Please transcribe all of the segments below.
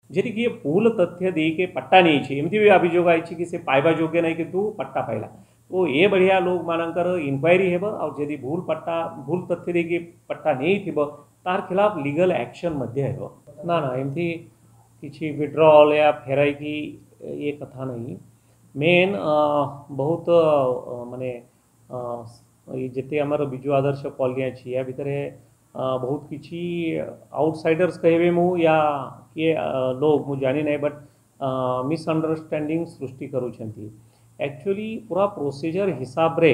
ଯଦି କିଏ ଭୁଲ ତଥ୍ୟ ଦେଇକି ପଟ୍ଟା ନେଇଛି, ଏମିତି ବି ଅଭିଯୋଗ ଆଇଛି କି ସେ ପାଇବା ଯୋଗ୍ୟ ନାହିଁ କିନ୍ତୁ ପଟ୍ଟା ପାଇଲା, ତ ଏ ବଢ଼ିଆ ଲୋକମାନଙ୍କର ଇନକ୍ୱାରି ହେବ। ଆଉ ଯଦି ଭୁଲ ପଟ୍ଟା, ଭୁଲ ତଥ୍ୟ ଦେଇକି ପଟ୍ଟା ନେଇଥିବ, ତାର ଖିଲାଫ ଲିଗାଲ ଆକ୍ସନ୍ ମଧ୍ୟ ହେବ। ନା ନା, ଏମିତି କିଛି ୱିଡ୍ରଲ୍ ୟା ଫେରାଇକି ଏ କଥା ନାହିଁ। ମେନ୍ ବହୁତ ମାନେ ଯେତେ ଆମର ବିଜୁ ଆଦର୍ଶ କଲୋନୀ ଅଛି, ୟା ଭିତରେ ବହୁତ କିଛି ଆଉଟସାଇଡର୍ସ କହିବେ ମୁଁ ୟା କିଏ ଲୋକ ମୁଁ ଜାଣି ନାହିଁ, ବଟ୍ ମିସ୍ଅଣ୍ଡରଷ୍ଟାଣ୍ଡିଂ ସୃଷ୍ଟି କରୁଛନ୍ତି। ଆକ୍ଚୁଆଲି ପୁରା ପ୍ରୋସିଜର ହିସାବରେ,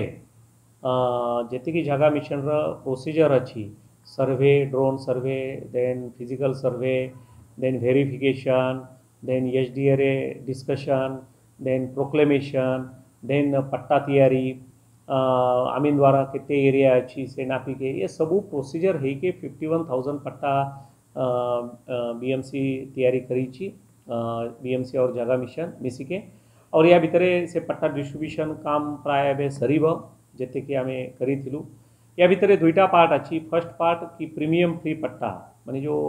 ଯେତିକି ଜାଗା ମିଶନର ପ୍ରୋସିଜର ଅଛି, survey, drone survey, then physical survey, then verification, then SDA discussion, then proclamation, then ପଟ୍ଟା ତିଆରି, ଅମିନ ଦ୍ୱାରା କେତେ ଏରିଆ ଅଛି ସେ ନାପିକେ, ଏ ସବୁ ପ୍ରୋସିଜର ହେଇକେ 51,000 ପଟ୍ଟା ବିଏମସି ତିଆରି କରିଛି, ବିଏମସି और ଜାଗା ମିଶନ ମିଶିକେ। और ୟା ଭିତରେ ସେ ପଟ୍ଟା ଡିଷ୍ଟ୍ରିବ୍ୟୁସନ୍ କାମ ପ୍ରାୟ ଏବେ ସରିବ, ଯେତିକି ଆମେ କରିଥିଲୁ। ୟା ଭିତରେ ଦୁଇଟା ପାର୍ଟ ଅଛି। ଫର୍ଷ୍ଟ ପାର୍ଟ କି ପ୍ରିମିୟମ୍ ଫ୍ରି ପଟ୍ଟା, ମାନେ ଯେଉଁ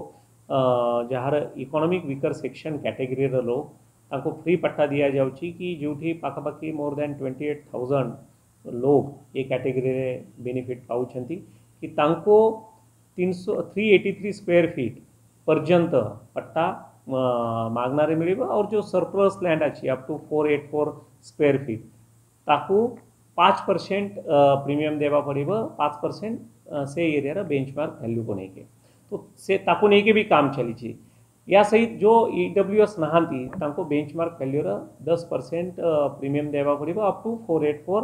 ଯାହାର ଇକୋନୋମିକ୍ ୱିକର ସେକ୍ସନ୍ କ୍ୟାଟେଗୋରୀର ଲୋକ, ତାଙ୍କୁ ଫ୍ରି ପଟ୍ଟା ଦିଆଯାଉଛି, କି ଯେଉଁଠି ପାଖାପାଖି ମୋର୍ ଦ୍ୟାନ୍ 28,000 ଲୋକ ଏ କ୍ୟାଟେଗୋରୀରେ ବେନିଫିଟ୍ ପାଉଛନ୍ତି, କି ତାଙ୍କୁ 383 ସ୍କୋୟାର ଫିଟ୍ ପର୍ଯ୍ୟନ୍ତ ପଟ୍ଟା ମାଗଣାରେ ମିଳିବ। ଆଉ ଯେଉଁ ସରପ୍ଲସ୍ ଲ୍ୟାଣ୍ଡ ଅଛି up to 484 square feet, ତାକୁ 5% ପ୍ରିମିୟମ୍ ଦେବା ପଡ଼ିବ, 5% ସେ ଏରିଆର ବେଞ୍ଚମାର୍କ ଭ୍ୟାଲ୍ୟୁକୁ ନେଇକି। ତ ସେ ତାକୁ ନେଇକି ବି କାମ ଚାଲିଛି। ୟା ସହିତ ଯେଉଁ ଇଡବ୍ଲ୍ୟୁଏସ୍ ନାହାନ୍ତି, ତାଙ୍କୁ ବେଞ୍ଚମାର୍କ ଭ୍ୟାଲ୍ୟୁର 10% ପ୍ରିମିୟମ୍ ଦେବା ପଡ଼ିବ up to 484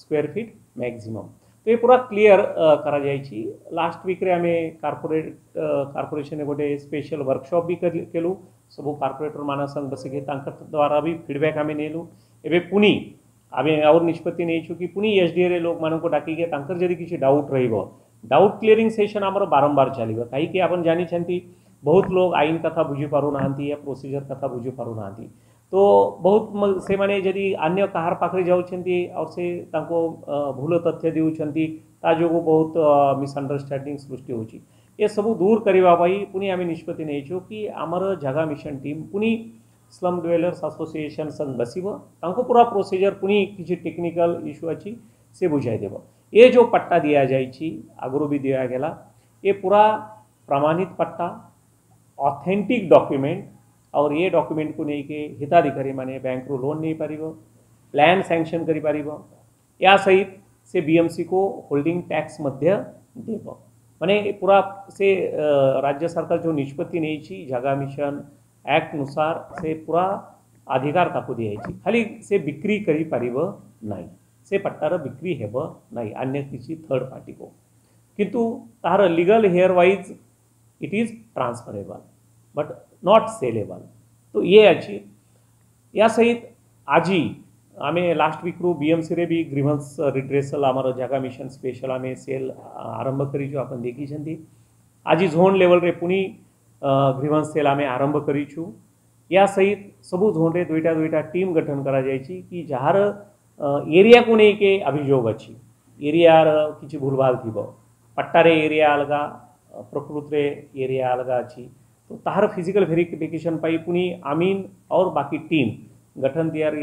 square feet maximum. ତ ଏ ପୁରା କ୍ଲିଅର କରାଯାଇଛି। ଲାଷ୍ଟ ୱିକ୍ରେ ଆମେ କର୍ପୋରେସନରେ ଗୋଟେ ସ୍ପେଶାଲ ୱାର୍କସପ୍ ବି କଲୁ। ସବୁ କର୍ପୋରେଟର ମାନଙ୍କ ସାଙ୍ଗେ ବସିକି ତାଙ୍କ ଦ୍ୱାରା ବି ଫିଡ଼ବ୍ୟାକ୍ ଆମେ ନେଲୁ। ଏବେ ପୁଣି ଆମେ ଆଉ ନିଷ୍ପତ୍ତି ନେଇଛୁ କି ପୁଣି ଏସ୍ଡିଏରେ ଲୋକମାନଙ୍କୁ ଡାକିକି ତାଙ୍କର ଯଦି କିଛି ଡାଉଟ୍ ରହିବ, ଡାଉଟ୍ କ୍ଲିୟରିଂ ସେସନ୍ ଆମର ବାରମ୍ବାର ଚାଲିବ। କାହିଁକି ଆପଣ ଜାଣିଛନ୍ତି, ବହୁତ ଲୋକ ଆଇନ କଥା ବୁଝିପାରୁନାହାନ୍ତି ୟା ପ୍ରୋସିଜର କଥା ବୁଝିପାରୁନାହାନ୍ତି। ତ ବହୁତ ସେମାନେ ଯଦି ଅନ୍ୟ କାହାର ପାଖରେ ଯାଉଛନ୍ତି ଆଉ ସେ ତାଙ୍କୁ ଭୁଲ ତଥ୍ୟ ଦେଉଛନ୍ତି, ତା ଯୋଗୁଁ ବହୁତ ମିସ୍ଅଣ୍ଡରଷ୍ଟାଣ୍ଡିଂ ସୃଷ୍ଟି ହେଉଛି। ଏସବୁ ଦୂର କରିବା ପାଇଁ ପୁଣି ଆମେ ନିଷ୍ପତ୍ତି ନେଇଛୁ କି ଆମର ଜାଗା ମିଶନ ଟିମ୍ ପୁଣି ସ୍ଲମ୍ ଡ୍ୱେଲର୍ସ ଆସୋସିଏସନ୍ ସଙ୍ଗେ ବସିବ, ତାଙ୍କୁ ପୁରା ପ୍ରୋସିଜର, ପୁଣି କିଛି ଟେକ୍ନିକାଲ ଇସ୍ୟୁ ଅଛି, ସେ ବୁଝାଇଦେବ। ଏ ଯେଉଁ ପଟ୍ଟା ଦିଆଯାଇଛି, ଆଗରୁ ବି ଦିଆଗଲା, ଏ ପୁରା ପ୍ରମାଣିତ ପଟ୍ଟା, ଅଥେଣ୍ଟିକ୍ ଡକ୍ୟୁମେଣ୍ଟ। और ଏ ଡକ୍ୟୁମେଣ୍ଟକୁ ନେଇକି ହିତାଧିକାରୀ ମାନେ ବ୍ୟାଙ୍କରୁ ଲୋନ୍ ନେଇପାରିବ, ପ୍ଲାନ୍ ସାଙ୍କସନ୍ କରିପାରିବ। ୟା ସହିତ ସେ ବିଏମସିକୁ ହୋଲ୍ଡିଂ ଟ୍ୟାକ୍ସ ମଧ୍ୟ ଦେବ। ମାନେ ପୁରା ସେ ରାଜ୍ୟ ସରକାର ଯେଉଁ ନିଷ୍ପତ୍ତି ନେଇଛି, ଜାଗା ମିଶନ ଆକ୍ଟ ଅନୁସାର ସେ ପୁରା ଅଧିକାର ତାକୁ ଦିଆଯାଇଛି। ଖାଲି ସେ ବିକ୍ରି କରିପାରିବ ନାହିଁ, ସେ ପଟ୍ଟାର ବିକ୍ରି ହେବ ନାହିଁ ଅନ୍ୟ କିଛି ଥର୍ଡ ପାର୍ଟିକୁ, କିନ୍ତୁ ତାହାର legal heir wise it is transferable but not saleable। ତ ଇଏ ଅଛି। ୟା ସହିତ ଆଜି ଆମେ ଲାଷ୍ଟ ୱିକ୍ରୁ ବିଏମ୍ସିରେ ବି ଗ୍ରିଭାନ୍ସ ରିଡ୍ରେସଲ୍ ଆମର ଜାଗା ମିଶନ ସ୍ପେଶାଲ ଆମେ ସେଲ୍ ଆରମ୍ଭ କରିଛୁ, ଆପଣ ଦେଖିଛନ୍ତି। ଆଜି ଝୋନ୍ ଲେଭେଲରେ ପୁଣି ଗ୍ରିଭାନ୍ସ ସେଲ୍ ଆମେ ଆରମ୍ଭ କରିଛୁ। ୟା ସହିତ ସବୁ ଝୋନ୍ରେ ଦୁଇଟା ଦୁଇଟା ଟିମ୍ ଗଠନ କରାଯାଇଛି କି ଯାହାର ଏରିଆକୁ ନେଇକି ଅଭିଯୋଗ ଅଛି, ଏରିଆର କିଛି ଭୁଲଭାଲ ଥିବ, ପଟ୍ଟାରେ ଏରିଆ ଅଲଗା, ପ୍ରକୃତିରେ ଏରିଆ ଅଲଗା ଅଛି, ତ ତାହାର ଫିଜିକାଲ ଭେରିଫିକେସନ୍ ପାଇଁ ପୁଣି ଆମିନ और ବାକି ଟିମ୍ ଗଠନ ତିଆରି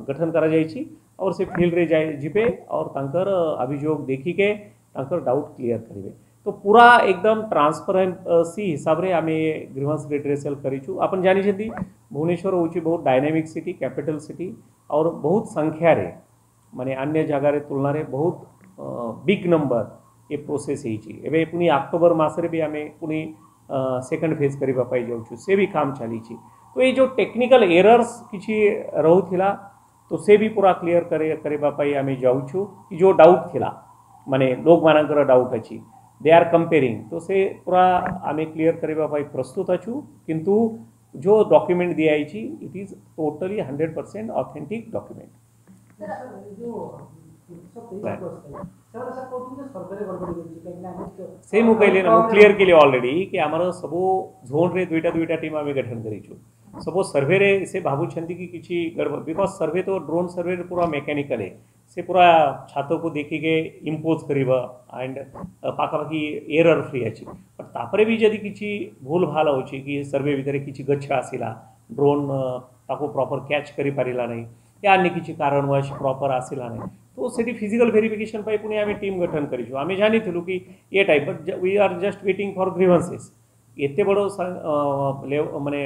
ଗଠନ କରାଯାଇଛି और ସେ ଫିଲ୍ଡରେ ଯାଇ ଯିବେ और ତାଙ୍କର ଅଭିଯୋଗ ଦେଖିକେ ତାଙ୍କର ଡାଉଟ୍ କ୍ଲିୟର କରିବେ। ତ ପୁରା ଏକଦମ ଟ୍ରାନ୍ସପରେନ୍ସି ହିସାବରେ ଆମେ ଗ୍ରିଭାନ୍ସ ରିଡ୍ରେସଲ୍ କରିଛୁ। ଆପଣ ଜାଣିଛନ୍ତି, ଭୁବନେଶ୍ୱର ହେଉଛି ବହୁତ ଡାଇନାମିକ୍ ସିଟି, କ୍ୟାପିଟାଲ ସିଟି, और ବହୁତ ସଂଖ୍ୟାରେ, ମାନେ ଅନ୍ୟ ଜାଗାରେ ତୁଳନାରେ ବହୁତ ବିଗ୍ ନମ୍ବର ଏ ପ୍ରୋସେସ୍ ହେଇଛି। ଏବେ ପୁଣି ଅକ୍ଟୋବର ମାସରେ ବି ଆମେ ପୁଣି ସେକେଣ୍ଡ ଫେଜ୍ କରିବା ପାଇଁ ଯାଉଛୁ, ସେ ବି କାମ ଚାଲିଛି। ତ ଏଇ ଯେଉଁ ଟେକ୍ନିକାଲ ଏରର୍ସ କିଛି ରହୁଥିଲା, ତ ସେ ବି ପୁରା କ୍ଲିୟର କରିବା ପାଇଁ ଆମେ ଯାଉଛୁ, କି ଯେଉଁ ଡାଉଟ୍ ଥିଲା, ମାନେ ଲୋକମାନଙ୍କର ଡାଉଟ୍ ଅଛି, ଦେ ଆର୍ କମ୍ପେରିଂ, ତ ସେ ପୁରା ଆମେ କ୍ଲିୟର କରିବା ପାଇଁ ପ୍ରସ୍ତୁତ ଅଛୁ। କିନ୍ତୁ ଯେଉଁ ଡକ୍ୟୁମେଣ୍ଟ ଦିଆଯାଇଛି, it is totally 100% authentic document। ଯୋଉ 323 ଲୋକ ଆସିଥିଲେ, ସେମାନେ ସାର୍ କହୁଛନ୍ତି ଯେ ସର୍ଭେରେ ଗଡ଼ବଡ଼ି ହେଇଛି, କାହିଁକି ନା ଆମେ ସେ ମୁଁ କହିଲି ନା, ମୁଁ କ୍ଲିୟର କଲି ଅଲରେଡି କି ଆମର ସବୁ ଝୋନ୍ରେ ଦୁଇଟା ଦୁଇଟା ଟିମ୍ ଆମେ ଗଠନ କରିଛୁ। ସବୁ ସର୍ଭେରେ ସେ ଭାବୁଛନ୍ତି କି କିଛି ଗଡ଼ବଡ଼, because survey ତ ଡ୍ରୋନ୍ ସର୍ଭେ ପୁରା ମେକାନିକାଲ। ସେ ପୁରା ଛାତକୁ ଦେଖିକି ଇମ୍ପୋଜ୍ କରିବ ଆଣ୍ଡ ପାଖାପାଖି ଏରର୍ ଫ୍ରି ଅଛି। ବଟ୍ ତାପରେ ବି ଯଦି କିଛି ଭୁଲ ଭାଲ ହେଉଛି କି ସର୍ଭେ ଭିତରେ କିଛି ଗଛ ଆସିଲା, ଡ୍ରୋନ୍ ତାକୁ ପ୍ରପର୍ କ୍ୟାଚ୍ କରିପାରିଲା ନାହିଁ ୟା ଅନ୍ୟ କିଛି କାରଣବଶ ପ୍ରପର୍ ଆସିଲା ନାହିଁ, ତ ସେଠି ଫିଜିକାଲ୍ ଭେରିଫିକେସନ୍ ପାଇଁ ପୁଣି ଆମେ ଟିମ୍ ଗଠନ କରିଛୁ। ଆମେ ଜାଣିଥିଲୁ କି ଏ type, but we are just waiting for grievances. ଏତେ ବଡ଼ ମାନେ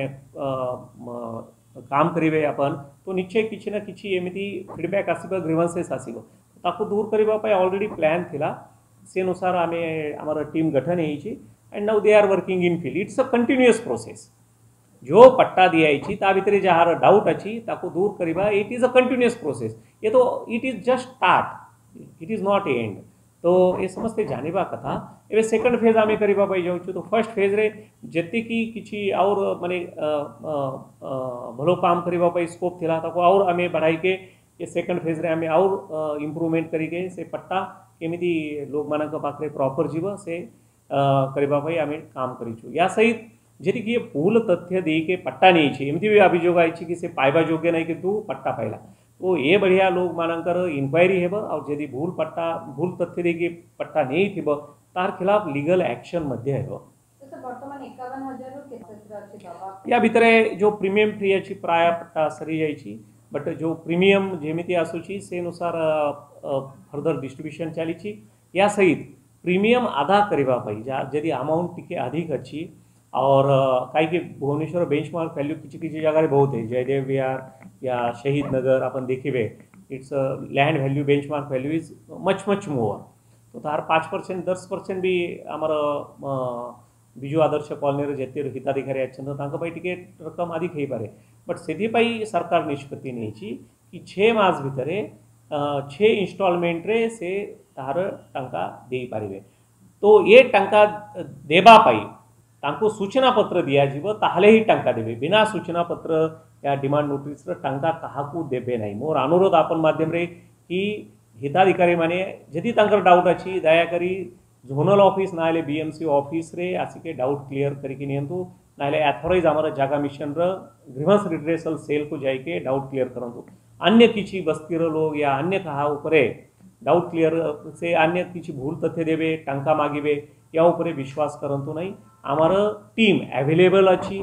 କାମ କରିବେ ଆପଣ ତ ନିଶ୍ଚୟ କିଛି ନା କିଛି ଏମିତି ଫିଡ଼ବ୍ୟାକ୍ ଆସିବ, ଗ୍ରିଭାନ୍ସେସ୍ ଆସିବ। ତାକୁ ଦୂର କରିବା ପାଇଁ ଅଲରେଡ଼ି ପ୍ଲାନ୍ ଥିଲା, ସେ ଅନୁସାର ଆମେ ଆମର ଟିମ୍ ଗଠନ ହେଇଛି and now they are working in field. It's a continuous process. ଯେଉଁ ପଟ୍ଟା ଦିଆଯାଇଛି ତା ଭିତରେ ଯାହାର ଡାଉଟ୍ ଅଛି ତାକୁ ଦୂର କରିବା, it is a continuous process. ଏ ତ it is just start, it is not end. ତ ଏ ସମସ୍ତେ ଜାଣିବା କଥା। ଏବେ ସେକେଣ୍ଡ ଫେଜ୍ ଆମେ କରିବା ପାଇଁ ଯାଉଛୁ। ତ ଫର୍ଷ୍ଟ ଫେଜ୍ରେ ଯେତିକି କିଛି ଆଉର ମାନେ ଭଲ କାମ କରିବା ପାଇଁ ସ୍କୋପ୍ ଥିଲା, ତାକୁ ଆଉର ଆମେ ବଢ଼ାଇକେ ଏ ସେକେଣ୍ଡ ଫେଜ୍ରେ ଆମେ ଆଉର ଇମ୍ପ୍ରୁଭମେଣ୍ଟ କରିକେ ସେ ପଟ୍ଟା କେମିତି ଲୋକମାନଙ୍କ ପାଖରେ ପ୍ରପର୍ ଯିବ ସେ କରିବା ପାଇଁ ଆମେ କାମ କରିଛୁ। ୟା ସହିତ ଯଦି କିଏ ଭୁଲ ତଥ୍ୟ ଦେଇକି ପଟ୍ଟା ନେଇଛି, ଏମିତି ବି ଅଭିଯୋଗ ଆଇଛି କି ସେ ପାଇବା ଯୋଗ୍ୟ ନାହିଁ କିନ୍ତୁ ପଟ୍ଟା ପାଇଲା, ତ ଏ ବଢ଼ିଆ ଲୋକମାନଙ୍କର ଇନକ୍ୱାରି ହେବ ଆଉ ଯଦି ଭୁଲ ପଟ୍ଟା ଭୁଲ ତଥ୍ୟ ଦେଇକି ପଟ୍ଟା ନେଇଥିବ ତାର ଖିଲାଫ ଲିଗାଲ ଆକ୍ସନ୍ ମଧ୍ୟ ହେବ। ତ ସାର୍, ବର୍ତ୍ତମାନ 51,000ରୁ କେତେ ଅଛି ଦବା? ୟା ଭିତରେ ଯେଉଁ ପ୍ରିମିୟମ୍ ଫ୍ରି ଅଛି ପ୍ରାୟ ପଟ୍ଟା ସରିଯାଇଛି, ବଟ୍ ଯେଉଁ ପ୍ରିମିୟମ୍ ଯେମିତି ଆସୁଛି ସେ ଅନୁସାର ଫର୍ଦର ଡିଷ୍ଟ୍ରିବ୍ୟୁସନ୍ ଚାଲିଛି। ୟା ସହିତ ପ୍ରିମିୟମ୍ ଆଦା କରିବା ପାଇଁ ଯାହା ଯଦି ଆମାଉଣ୍ଟ ଟିକେ ଅଧିକ ଅଛି और କାହିଁକି ଭୁବନେଶ୍ୱର ବେଞ୍ଚମାର୍କ ଭ୍ୟାଲ୍ୟୁ କିଛି କିଛି ଜାଗାରେ ବହୁତ है, ଜୟଦେବ ବିହାର या शहीद नगर ଆପଣ ଦେଖିବେ, its land value, benchmark value is much much more. ତ ତାର 5% 10% ବି ଆମର ବିଜୁ ଆଦର୍ଶ କଲୋନୀରେ ଯେତେ ହିତାଧିକାରୀ ଅଛନ୍ତି ତାଙ୍କ ପାଇଁ ଟିକେ ରକମ ଅଧିକ ହେଇପାରେ। ବଟ୍ ସେଥିପାଇଁ ସରକାର ନିଷ୍ପତ୍ତି ନେଇଛି କି 6 ମାସ ଭିତରେ 6 ଇନଷ୍ଟଲମେଣ୍ଟରେ ସେ ତାହାର ଟଙ୍କା ଦେଇପାରିବେ। ତ ଏ ଟଙ୍କା ଦେବା ପାଇଁ ତାଙ୍କୁ ସୂଚନା ପତ୍ର ଦିଆଯିବ, ତାହେଲେ ହିଁ ଟଙ୍କା ଦେବେ। ବିନା ସୂଚନା ପତ୍ର ୟା ଡିମାଣ୍ଡ ନୋଟିସର ଟଙ୍କା କାହାକୁ ଦେବେ ନାହିଁ। ମୋର ଅନୁରୋଧ ଆପଣ ମାଧ୍ୟମରେ କି ହିତାଧିକାରୀମାନେ ଯଦି ତାଙ୍କର ଡାଉଟ୍ ଅଛି, ଦୟାକରି ଜୋନାଲ ଅଫିସ୍ ନହେଲେ ବିଏମସି ଅଫିସରେ ଆସିକି ଡାଉଟ୍ କ୍ଲିୟର କରିକି ନିଅନ୍ତୁ, ନହେଲେ ଆଥରାଇଜ୍ ଆମର ଜାଗା ମିଶନର ଗ୍ରିଭାନ୍ସ ରିଡ୍ରେସଲ ସେଲ୍କୁ ଯାଇକି ଡାଉଟ୍ କ୍ଲିୟର କରନ୍ତୁ। ଅନ୍ୟ କିଛି ବସ୍ତିର ଲୋକ ୟା ଅନ୍ୟ କାହା ଉପରେ ଡାଉଟ୍ କ୍ଲିୟର ସେ ଅନ୍ୟ କିଛି ଭୁଲ ତଥ୍ୟ ଦେବେ, ଟଙ୍କା ମାଗିବେ, ୟା ଉପରେ ବିଶ୍ୱାସ କରନ୍ତୁ ନାହିଁ। ଆମର ଟିମ୍ ଆଭେଲେବଲ୍ ଅଛି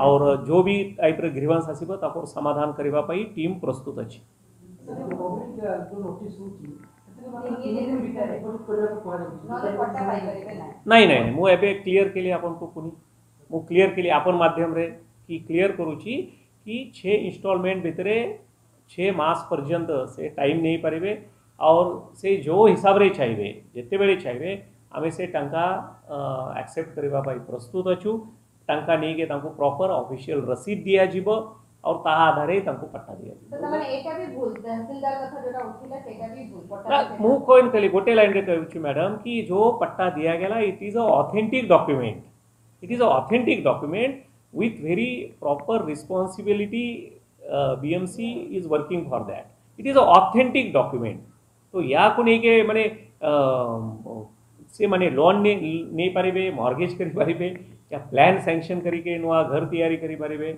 और जो ବି ଟାଇପ୍ର ଗ୍ରିଭାନ୍ସ ଆସିବ ତାକୁ ସମାଧାନ କରିବା ପାଇଁ ଟିମ୍ ପ୍ରସ୍ତୁତ ଅଛି। ସାର୍, ଗଭର୍ଣ୍ଣମେଣ୍ଟ ଯୋଉ ନୋଟିସ୍ ହେଉଛି ସେଥିରେ ମାତ୍ର ତିନି 3 ଦିନ ଦିନ ଭିତରେ ଭିତରେ। ଡିପୋଜିଟ୍ କରିବାକୁ କୁହାଯାଉଛି। ନହେଲେ ପଟ୍ଟା ପାଇପାରିବେ ନାହିଁ। ନାଇଁ, ମୁଁ ଏବେ କ୍ଲିୟର କଲି ଆପଣଙ୍କୁ, ପୁଣି ମୁଁ କ୍ଲିୟର କଲି ଆପଣ ମାଧ୍ୟମରେ କି କ୍ଲିୟର କରୁଛି କି 6 ଇନଷ୍ଟଲମେଣ୍ଟ ଭିତରେ 6 ମାସ ପର୍ଯ୍ୟନ୍ତ ସେ ଟାଇମ୍ ନେଇପାରିବେ ଆଉ ସେ ଯେଉଁ ହିସାବରେ ଚାହିଁବେ, ଯେତେବେଳେ ଚାହିଁବେ, ଆମେ ସେ ଟଙ୍କା ଆକ୍ସେପ୍ଟ କରିବା ପାଇଁ ପ୍ରସ୍ତୁତ ଅଛୁ। ଟଙ୍କା ନେଇକି ତାଙ୍କୁ ପ୍ରପର ଅଫିସିଆଲ ରସିଦ ଦିଆଯିବ ଆଉ ତାହା ଆଧାରରେ ତାଙ୍କୁ ପଟ୍ଟା ଦିଆଯିବ। ତ ତାମାନେ ଏଇଟା ବି ଭୁଲ, ତହସିଲଦାର କଥା ଯୋଉଟା ଉଠିଲା ସେଇଟା ବି ଭୁଲ ପଟ୍ଟା ନା, ମୁଁ କଣ କଲି, ଗୋଟେ ଲାଇନରେ କହୁଛି ମ୍ୟାଡ଼ାମ୍ କି ଯେଉଁ ପଟ୍ଟା ଦିଆଗଲା, it is a authentic document. It is a authentic document with very proper responsibility. BMC is working for that. It is a authentic document. ତ ୟାକୁ ନେଇକି ମାନେ ସେ ମାନେ ଲୋନ୍ ନେଇପାରିବେ, ମର୍ଗେଜ୍ କରିପାରିବେ ୟା ପ୍ଲାନ୍ ସାଙ୍କସନ୍ କରିକି ନୂଆ ଘର ତିଆରି କରିପାରିବେ।